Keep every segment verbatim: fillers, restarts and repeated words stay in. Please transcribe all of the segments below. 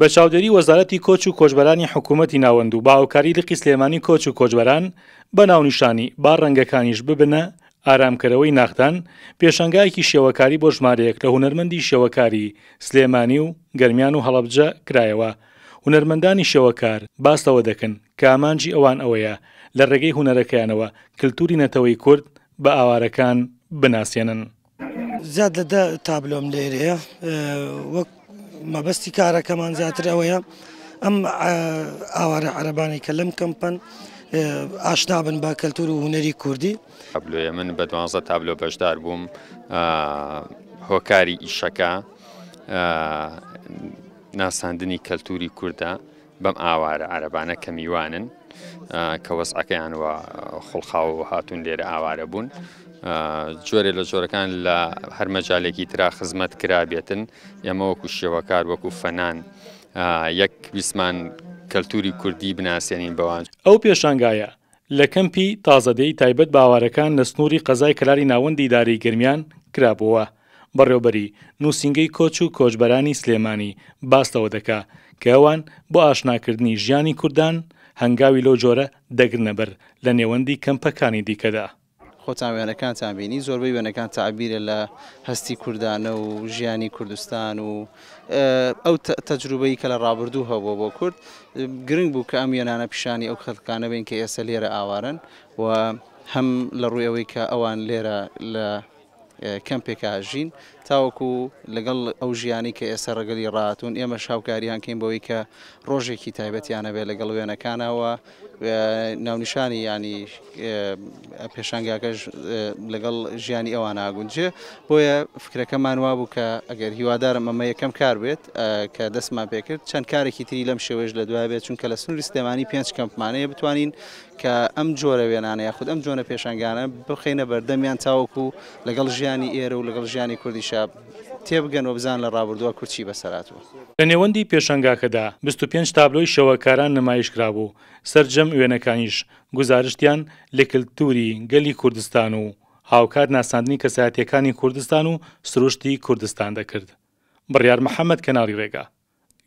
بە چاودێری وەزارەتی کۆچ و کۆچبەرانی حکوومەتی ناوەند و بە هاوکاری لقی سلێمانی کۆچ و کۆچبەران بە ناونیشانی با ڕەنگەکانیش ببنە ئارامکەرەوەی ناختان، پێشانگایەکی شێوەکاری بۆ ژمارەیەک لە هونەرمەندی شێوەکاری سلێمانی و گەرمیان و هەڵەبجە کرایەوە. هونەرمەندانی شێوەکار باس لەوە دەکەن کە ئامانجی ئەوان ئەوەیە لە ڕێگەی هونەرەکەیانەوە کلتوری نەتەوەی کورد بە ئاوارەکان بناسێنن. زیاد لە دە تابلۆم لێرەیە، وەک مەبەستی کارەکەمان زیاتر ئەوەیە ئەم ئاوارە عەرەبانەی کە لەم کەمپەن ئاشنا بن بە کەلتور و هونەری کوردی. تابلۆیە من بە دوانزە تابلۆ بەشدار بووم. هۆکاری ئیشەکە ناساندنی کەلتوری کوردە بەم ئاوارە عەرەبانە کە میوانن، کە وەزعەکەیان وە خوڵقاوە هاتوون لێرە ئاوارە بوون، جۆرێ لە جۆرەکان لە هەر مەجالێکی ترا خزمەت کرابێتن. ئێمە وەکو شێوەکار وەکو فەنان یەک ویستمان کەلتوری کوردی بناسێنین بەوان. ئەو پێشانگایە لە کەمپی تازەدێی تایبەت بە ئاوارەکان لە سنووری قەزای کەلاری ناوەندی ئیدارەی گەرمیان کرابووە. بەڕێوبەری نووسینگەی کۆچ و کۆچبەرانی سلێمانی باس لەوە دەکا کە ئەوان بۆ ئاشناکردنی ژیانی کوردان هەنگاوی لەو جۆرە دەگرنە بەر لە نێوەندی کەمپەکانی دیکەدا. خۆتان وێنەکانتان بینی، زۆربەی وێنەکان تعبیرە لە هەستی کوردانە و ژیانی کوردستان و ئەو تەجروبەی کە لە ڕابردوو هەبووە بۆ کورد. گرنگ بوو کە ئەم وێنانە پیشانی ئەو خەڵکانە بین کە ئێستا لێرە ئاوارن و هەم لە ڕووی ئەوەی کە ئەوان لێرە لە کەمپێکا ژین تاوەکو لەگەڵ ئەو ژیانی کە ئێستا ڕەگەلی ڕاتون ئێمە شاوکاریان کەین بەوەی کە ڕۆژێکی تایبەتیانە بێت لەگەڵ وێنەکانەوە ناونیشانی ینی پێشانگاکەش لەگەڵ ژیانی ئەوان ئاگونجێ. بۆیە فکرەکەمان وابوو کە ئەگەر هیوادارم ئەمە یەکەم کار بێت کە دەستمان پێکرد، چەند کارێکی تری لەم شێوەیەش لە دوای بێت، چونکە لە سنووری سلێمانی پێنج کەمپمانەیە بتوانین کە ئەم جۆرە وێنانە یاخود ئەم جۆرە پێشانگانە بخەینە بەردەمیان تاوەکو لەگەڵ ژیانی ئێرە و لەگەڵ ژیانی کوردیشا تێبگەن و بزان لە ڕابردووە کورد چی بەسەرهاتووە. لە نێوەندی پێشانگاکەدا بیست و پێنج تابلۆی شێوەکاران نمایش کرابوو، سەرجەم وێنەکانیش گوزارشتیان لە کلتوری گەلی کوردستان و هاوکات ناساندنی کەسایەتیەکانی کوردستان و سروشتی کوردستان دەکرد. بڕیار محەممەد، کەناڵی ڕێگا،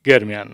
گەرمیان.